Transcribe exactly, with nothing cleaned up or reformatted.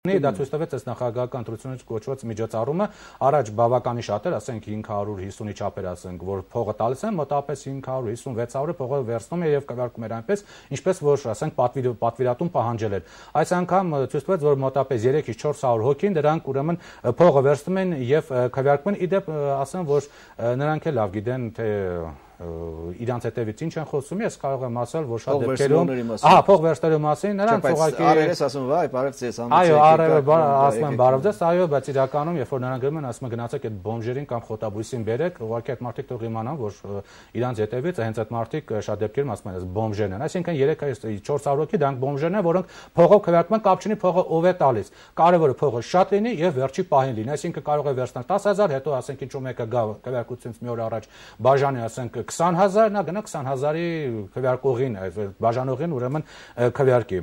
Դա ցույց տվեց այս նախագահական ընտրությունից կոչված միջոցառումը, առաջ բավականին շատ էր, ասենք հինգ հարյուր հիսունի չափեր, ասենք, որ փողը տալիս են, մոտավորապես հինգ հարյուր հիսուն վեց հարյուրը փողը վերցնում է եւ կվարկում էր այնպես, ինչպես որ, ասենք, պատվիրատուն պահանջել էր։ Այս անգամ ցույց տվեց, որ մոտավորապես երեքից չորս հարյուր հոգին դրանք ուրեմն փողը վերցնում են եւ քվեարկում են, իդեպ ասեմ, որ նրանք էլ լավ գիտեն, թե իրանց հետևից ինչ են խոսում, ես կարող եմ ասել, որ շատ դեպքերում, ահա, փող վերցնելու մասին, նրանց ուղղակի Արևես ասում, վայ, բարև ձեզ, այո, արևը ասում են բարև ձեզ, այո, բայց իրականում, երբ որ նրանք գրում են, ասում են գնացեք այդ բոմժերին կամ խոտաբույսին բերեք, ուղղակի այդ մարդիկ թող իմանան, որ իրանց հետևից հենց այդ մարդիկ շատ դեպքերում ասում են, այս բոմժերն են, այսինքն երեք չորս հարյուր հոգի դրանք բոմժերն են, որոնք փողով քվեարկում են, կապ չունի փողը ով է տալիս։ Կարևորը փողը շատ լինի եւ վերջի պահին լինի, այսինքն կարող է վերցնել տասը հազար, հետո ասենք ինչ-որ մեկը գա քվեարկությունից մի օր առաջ բաժանի, ասենք քսան հազար, նա գնա քսան հազարի քվեարկողին, բաժանողին ուրեմն քվեարկի։